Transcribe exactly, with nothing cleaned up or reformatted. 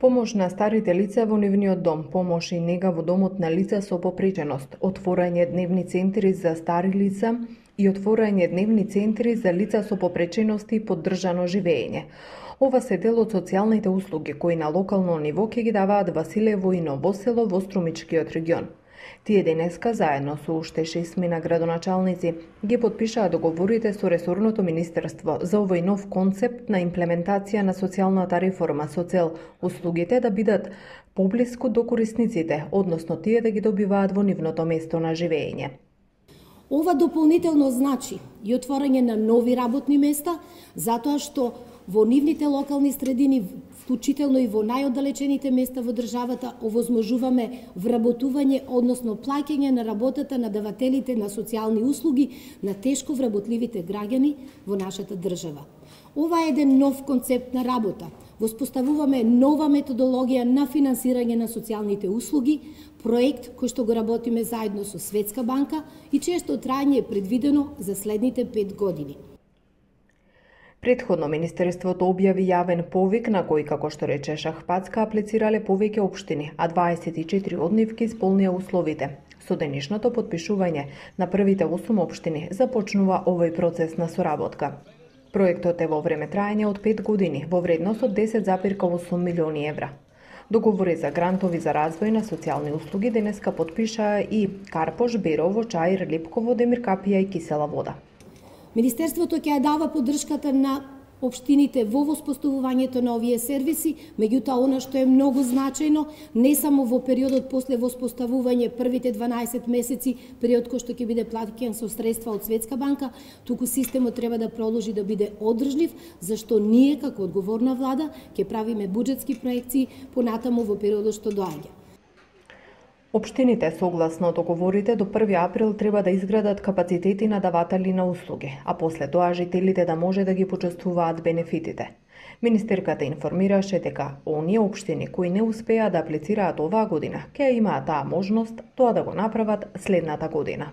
Помош на старите лица во нивниот дом, помош и нега во домот на лица со попреченост, отворање дневни центри за стари лица и отворање дневни центри за лица со попречености и поддржано живење. Ова се дел од социјалните услуги кои на локално ниво ќе ги даваат Василево и Ново село во Струмичкиот регион. Тие денеска, заедно со уште шестмина градоначалници, ги потпишаа договорите со ресорното министерство за овој нов концепт на имплементација на социјалната реформа со цел услугите да бидат поблиску до корисниците, односно тие да ги добиваат во нивното место на живење. Ова дополнително значи и отворање на нови работни места, затоа што во нивните локални средини, вклучително и во најоддалечените места во државата, овозможуваме вработување, односно плаќање на работата на давателите на социјални услуги на тешко вработливите граѓани во нашата држава. Ова е еден нов концепт на работа. Воспоставуваме нова методологија на финансирање на социјалните услуги, проект кој што го работиме заедно со Светска банка и чието трајање е предвидено за следните пет години. Претходно Министерството објави јавен повик на кој, како што рече Шахпацка, аплицирале повеќе општини, а дваесет и четири од нив ги исполнија условите. Со денешното потпишување на првите осум општини започнува овој процес на соработка. Проектот е во време трајање од пет години, во вредност од десет запирка осум милиони евра. Договори за грантови за развој на социјални услуги денеска потпишаа и Карпош, Берово, Чаир, Липково, Демиркапија и Кисела вода. Министерството ќе ја дава поддршката на општините во воспоставувањето на овие сервиси, меѓутоа она што е многу значајно, не само во периодот после воспоставување првите дванаесет месеци, период кој што ќе биде платен со средства од Светска банка, туку системот треба да продолжи да биде одржлив, зашто ние како одговорна влада ќе правиме буџетски проекции понатаму во периодот што доаѓа. Општините, согласно договорите, до први април треба да изградат капацитети на даватели на услуги, а после тоа жителите да може да ги почувствуваат бенефитите. Министерката информираше дека оние општини кои не успеа да аплицираат оваа година, ќе имаат таа можност тоа да го направат следната година.